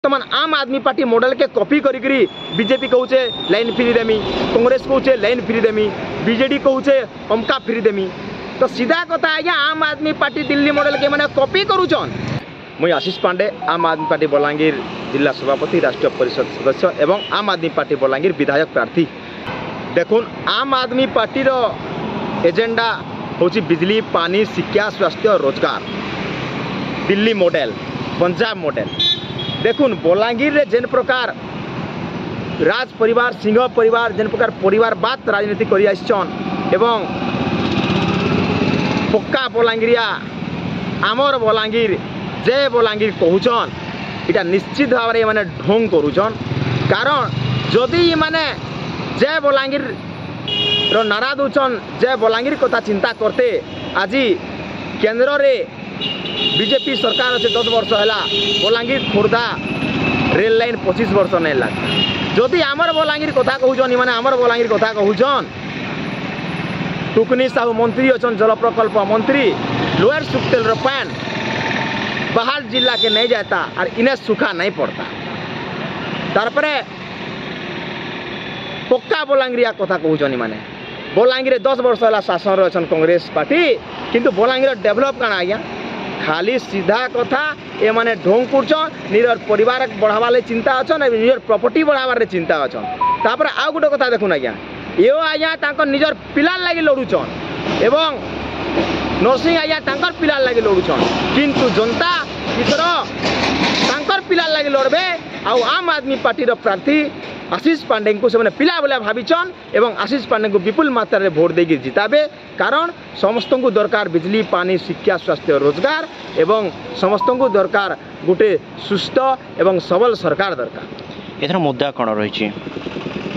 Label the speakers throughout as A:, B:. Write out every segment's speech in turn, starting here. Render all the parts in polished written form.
A: ବର୍ତ୍ତମାନ Aam Aadmi party ମଡେଲକେ copy କରିକିରି BJP କହୁଛେ ଲାଇନ୍ ଫ୍ରି ଦେମି, କଂଗ୍ରେସ କହୁଛେ ଲାଇନ୍ ଫ୍ରି ଦେମି, ବିଜେଡି କହୁଛେ ଅମକା ଫ୍ରି ଦେମି। ତ ସିଧା କଥା ଆଜ୍ଞା, ଆମ୍ ଆଦମୀ ପାର୍ଟି ଦିଲ୍ଲୀ ମଡେଲକେ ମାନେ କପି କରୁଛନ୍। ମୁଇଁ ଆଶିଷ ପାଣ୍ଡେ, ଆମ୍ ଆଦମୀ ପାର୍ଟି ବଲାଙ୍ଗୀର ଜିଲ୍ଲା ସଭାପତି, ରାଷ୍ଟ୍ରୀୟ ପରିଷଦ ସଦସ୍ୟ ଏବଂ ଆମ୍ ଆଦମୀ ପାର୍ଟି ବଲାଙ୍ଗୀର ବିଧାୟକ ପ୍ରାର୍ଥୀ। ଦେଖୁନ୍, ଆମ୍ ଆଦମୀ ପାର୍ଟିର ଏଜେଣ୍ଡା ହେଉଛି ବିଜଲି, ପାନି, ଶିକ୍ଷା, ସ୍ୱାସ୍ଥ୍ୟ, ରୋଜଗାର, ଦିଲ୍ଲୀ ମଡେଲ, ପଞ୍ଜାବ ମଡେଲ। ଦେଖୁନ୍, ବଲାଙ୍ଗୀରରେ ଯେନ୍ ପ୍ରକାର ରାଜ ପରିବାର, ସିଂହ ପରିବାର ଯେନ୍ ପ୍ରକାର ପରିବାରବାଦ ରାଜନୀତି କରି ଆସିଛନ୍ ଏବଂ ପକ୍କା ବଲାଙ୍ଗୀରିଆ ଆମର ବଲାଙ୍ଗୀର, ଜୟ ବଲାଙ୍ଗୀର କହୁଛନ୍, ଏଇଟା ନିଶ୍ଚିତ ଭାବରେ ଏମାନେ ଢୋଙ୍ଗ କରୁଛନ୍। କାରଣ ଯଦି ଏମାନେ ଜୟ ବଲାଙ୍ଗୀରର ନାରା ଦଉଛନ୍, ଜୟ ବଲାଙ୍ଗୀର କଥା ଚିନ୍ତା କରତେ, ଆଜି କେନ୍ଦ୍ରରେ ବିଜେପି ସରକାର ଅଛେ 10 ବର୍ଷ ହେଲା, ବଲାଙ୍ଗୀର ଖୋର୍ଦ୍ଧା ରେଲ ଲାଇନ୍ 25 ବର୍ଷ ନାଇଁ ଲାଗେ। ଯଦି ଆମର ବଲାଙ୍ଗୀର କଥା କହୁଛନ୍, ଏମାନେ ଆମର ବଲାଙ୍ଗୀର କଥା କହୁଛନ୍, ଟୁକୁନି ସାହୁ ମନ୍ତ୍ରୀ ଅଛନ୍, ଜଳ ପ୍ରକଳ୍ପ ମନ୍ତ୍ରୀ, ଲୋୟର ସୁକ୍ତେଲର ପାନ୍ ବାହାର ଜିଲ୍ଲାକେ ନେଇ ଯାଏତା ଆର୍ ଇନେ ସୁଖା ନାଇଁ ପଡ଼ତା। ତାରପରେ ପକ୍କା ବଲାଙ୍ଗୀରିଆ କଥା କହୁଛନ୍ ଏମାନେ। ବଲାଙ୍ଗୀରରେ 10 ବର୍ଷ ହେଲା ଶାସନରେ ଅଛନ୍ କଂଗ୍ରେସ ପାର୍ଟି, କିନ୍ତୁ ବଲାଙ୍ଗୀର ଡେଭଲପ୍ କାଣା ଆଜ୍ଞା? ଖାଲି ସିଧା କଥା, ଏମାନେ ଢୋଙ୍ଗ କରୁଛନ୍, ନିଜର ପରିବାର ବଢ଼ାବାର ଲାଗି ଚିନ୍ତା ଅଛନ୍, ନିଜର ପ୍ରପର୍ଟି ବଢ଼ାବାରେ ଚିନ୍ତା ଅଛନ୍। ତାପରେ ଆଉ ଗୋଟେ କଥା ଦେଖୁନ୍ ଆଜ୍ଞା, ଏ ଆଜ୍ଞା ତାଙ୍କର ନିଜର ପିଲାର ଲାଗି ଲଢ଼ୁଛନ୍ ଏବଂ ନରସିଂହ ଆଜ୍ଞା ତାଙ୍କର ପିଲାର ଲାଗି ଲଢ଼ୁଛନ୍, କିନ୍ତୁ ଜନତା ଏଥର ତାଙ୍କର ପିଲାର ଲାଗି ଲଢ଼ବେ। ଆଉ ଆମ୍ ଆଦମୀ ପାର୍ଟିର ପ୍ରାର୍ଥୀ ଆଶିଷ ପାଣ୍ଡେଙ୍କୁ ସେମାନେ ପିଲା ଭଳିଆ ଭାବିଛନ୍ ଏବଂ ଆଶିଷ ପାଣ୍ଡେଙ୍କୁ ବିପୁଲ ମାତ୍ରାରେ ଭୋଟ ଦେଇକି ଜିତାବେ। କାରଣ ସମସ୍ତଙ୍କୁ ଦରକାର ବିଜଲି, ପାନି, ଶିକ୍ଷା, ସ୍ୱାସ୍ଥ୍ୟ, ରୋଜଗାର ଏବଂ ସମସ୍ତଙ୍କୁ ଦରକାର ଗୋଟେ ସୁସ୍ଥ ଏବଂ ସବଳ ସରକାର ଦରକାର।
B: ଏଥର ମୁଦ୍ଦା କ'ଣ ରହିଛି?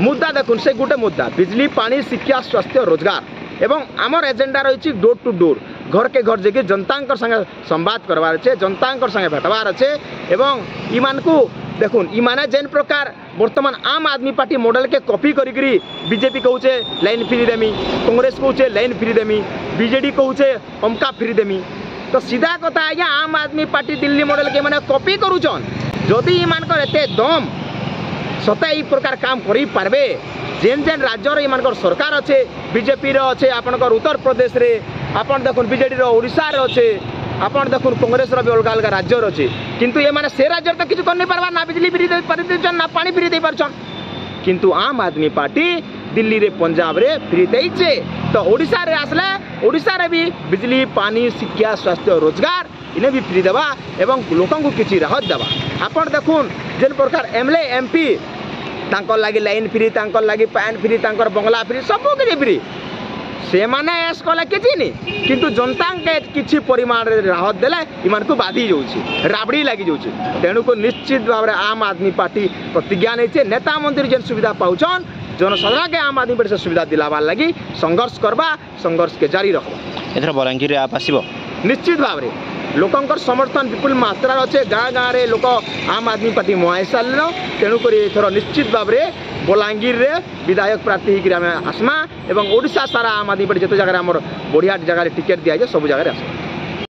A: ମୁଦ୍ଦା ଦେଖୁନ୍, ସେ ଗୋଟେ ମୁଦ୍ଦା ବିଜଲି, ପାଣି, ଶିକ୍ଷା, ସ୍ୱାସ୍ଥ୍ୟ, ରୋଜଗାର ଏବଂ ଆମର ଏଜେଣ୍ଡା ରହିଛି ଡୋର୍ ଟୁ ଡୋର୍, ଘରକେ ଘର ଯାଇକି ଜନତାଙ୍କର ସାଙ୍ଗେ ସମ୍ବାଦ କରବାର ଅଛେ, ଜନତାଙ୍କର ସାଙ୍ଗେ ଭେଟବାର ଅଛେ। ଏବଂ ଇମାନଙ୍କୁ ଦେଖୁନ୍, ଇମାନେ ଯେନ୍ ପ୍ରକାର ବର୍ତ୍ତମାନ ଆମ୍ ଆଦମୀ ପାର୍ଟି ମଡେଲକେ କପି କରିକିରି ବିଜେପି କହୁଛେ ଲାଇନ୍ ଫ୍ରି ଦେମି, କଂଗ୍ରେସ କହୁଛେ ଲାଇନ୍ ଫ୍ରି ଦେମି, ବିଜେଡି କହୁଛେ ଅମକା ଫ୍ରି ଦେମି। ତ ସିଧା କଥା ଆଜ୍ଞା, ଆମ୍ ଆଦମୀ ପାର୍ଟି ଦିଲ୍ଲୀ ମଡେଲକେ ମାନେ କପି କରୁଛନ୍। ଯଦି ଏମାନଙ୍କର ଏତେ ଦମ୍ ସତେ ଏଇ ପ୍ରକାର କାମ କରିପାରବେ, ଯେନ୍ ଯେନ୍ ରାଜ୍ୟର ଏମାନଙ୍କର ସରକାର ଅଛେ, ବିଜେପିର ଅଛେ ଆପଣଙ୍କର ଉତ୍ତରପ୍ରଦେଶରେ, ଆପଣ ଦେଖୁନ୍ ବିଜେଡ଼ିର ଓଡ଼ିଶାରେ ଅଛେ, ଆପଣ ଦେଖୁନ୍ କଂଗ୍ରେସର ବି ଅଲଗା ଅଲଗା ରାଜ୍ୟରେ ଅଛେ, କିନ୍ତୁ ଏମାନେ ସେ ରାଜ୍ୟରେ ତ କିଛି କରି ପାରବା ନା, ବିଜଲି ଫ୍ରି ଦେଇ ଦେଇଛନ୍ ନା ପାଣି ଫ୍ରି ଦେଇ ପାରୁଛନ୍। କିନ୍ତୁ ଆମ୍ ଆଦମୀ ପାର୍ଟି ଦିଲ୍ଲୀରେ, ପଞ୍ଜାବରେ ଫ୍ରି ଦେଇଛେ, ତ ଓଡ଼ିଶାରେ ଆସିଲେ ଓଡ଼ିଶାରେ ବି ବିଜଲି, ପାଣି, ଶିକ୍ଷା, ସ୍ୱାସ୍ଥ୍ୟ, ରୋଜଗାର ଇନେ ବି ଫ୍ରି ଦେବା ଏବଂ ଲୋକଙ୍କୁ କିଛି ରାହତ ଦେବା। ଆପଣ ଦେଖୁନ୍, ଯେନ୍ ପ୍ରକାର M L A, M P ତାଙ୍କର ଲାଗି ଲାଇନ୍ ଫ୍ରି, ତାଙ୍କର ଲାଗି ପାନ୍ ଫ୍ରି, ତାଙ୍କର ବଙ୍ଗଲା ଫ୍ରି, ସବୁ କିଛି ଫ୍ରି, ସେମାନେ ଏସ୍ କଲେ କିଛି ନି, କିନ୍ତୁ ଜନତାଙ୍କେ କିଛି ପରିମାଣରେ ରାହତ ଦେଲେ ଏମାନଙ୍କୁ ବାଧି ଯାଉଛି, ରାବଡ଼ି ଲାଗି ଯାଉଛି। ତେଣୁକରି ନିଶ୍ଚିତ ଭାବରେ ଆମ୍ ଆଦମୀ ପାର୍ଟି ପ୍ରତିଜ୍ଞା ନେଇଛେ, ନେତା ମନ୍ତ୍ରୀ ଯେନ୍ ସୁବିଧା ପାଉଛନ୍, ଜନସାଧାରଣକେ ଆମ୍ ଆଦମୀ ପାର୍ଟି ସେ ସୁବିଧା ଦିଲାବାର ଲାଗି ସଂଘର୍ଷ କରବା, ସଂଘର୍ଷକେ ଜାରି ରଖବା।
B: ଏଥର ବଲାଙ୍ଗୀରରେ ଆପ୍ ଆସିବ?
A: ନିଶ୍ଚିତ ଭାବରେ ଲୋକଙ୍କର ସମର୍ଥନ ବିପୁଲ ମାତ୍ରାରେ ଅଛେ, ଗାଁ ଗାଁରେ ଲୋକ ଆମ୍ ଆଦମୀ ପାର୍ଟି ମୁହାଁ ସାରିଲେନ। ତେଣୁକରି ଏଥର ନିଶ୍ଚିତ ଭାବରେ ବଲାଙ୍ଗୀରରେ ବିଧାୟକ ପ୍ରାର୍ଥୀ ହେଇକରି ଆମେ ଆସମା ଏବଂ ଓଡ଼ିଶା ସାରା ଆମ୍ ଆଦମୀ ପାର୍ଟି ଯେତେ ଜାଗାରେ ଆମର ବଢ଼ିଆ ଜାଗାରେ ଟିକେଟ୍ ଦିଆଯାଏ, ସବୁ ଜାଗାରେ ଆସମା।